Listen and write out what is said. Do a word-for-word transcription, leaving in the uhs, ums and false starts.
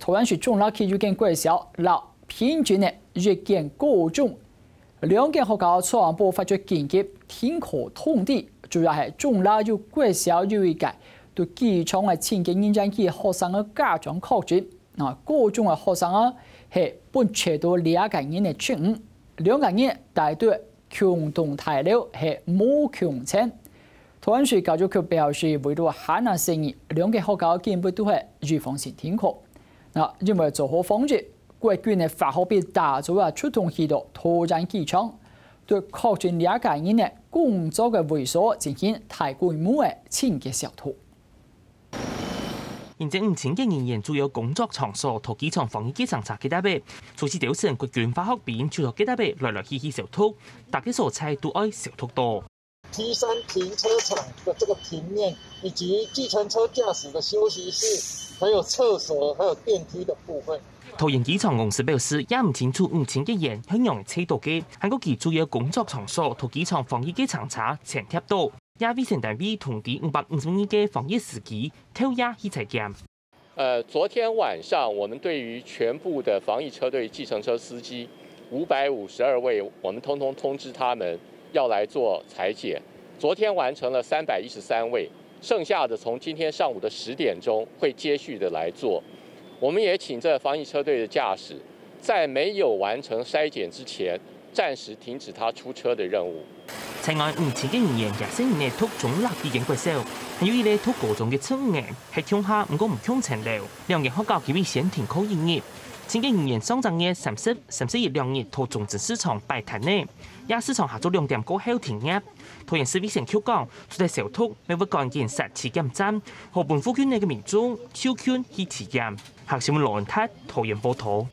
桃園市中壢區有間國小摎平鎮个一間高中，兩間學校昨暗晡發出緊急停課通知，主要係中壢有國小有一個對機場个清潔人員及學生个家長確診，啊，高中个學生啊係分切到兩個人个職務，兩個人戴到共同大樓係無共層。桃園市教育局表示，為了限制細人，兩間學校今晡都係預防性停課。啊，因為做好防疫，國軍个化學兵打早啊出動去到桃園機場，對確診兩個人个工作个位所進行大規模个清潔消毒。 行政五千个人員主要工作場所同機場防疫計程車結搭仔，除夕朝晨國軍化學兵就同結搭仔來來去去消毒，逐個所在都愛消毒到。T三停車場的這個平面，以及計程車駕駛的休息室，還有廁所，還有電梯的部分。桃園機場公司表示，也毋清楚五千个人係仰仔揣到个，還過佢主要工作場所同機場防疫計程車全貼到。 也衛生單位通知五百五十二个防疫司機，透夜去採檢。呃，昨天晚上我们对于全部的防疫车队、计程车司机五百五十二位，我们通通通知他们要来做裁剪。昨天完成了三百一十三位，剩下的从今天上午的十点钟会接续的来做。我们也请这防疫车队的驾驶，在没有完成筛检之前，暂时停止他出车的任务。 在外五千个人員也係人个讀中壢語言國小，還有一個讀高中个青年，係共下毋過毋共層樓。兩間學校佢會先停課一日。清潔人員上隻月三十、三十一兩日到中正市場擺攤仔，夜市場下晝兩點過後停業。桃園市衛生局講，除了消毒，乜會趕緊設體檢站，好分附近个民眾就近去體檢。客新聞羅文泰，桃園報導。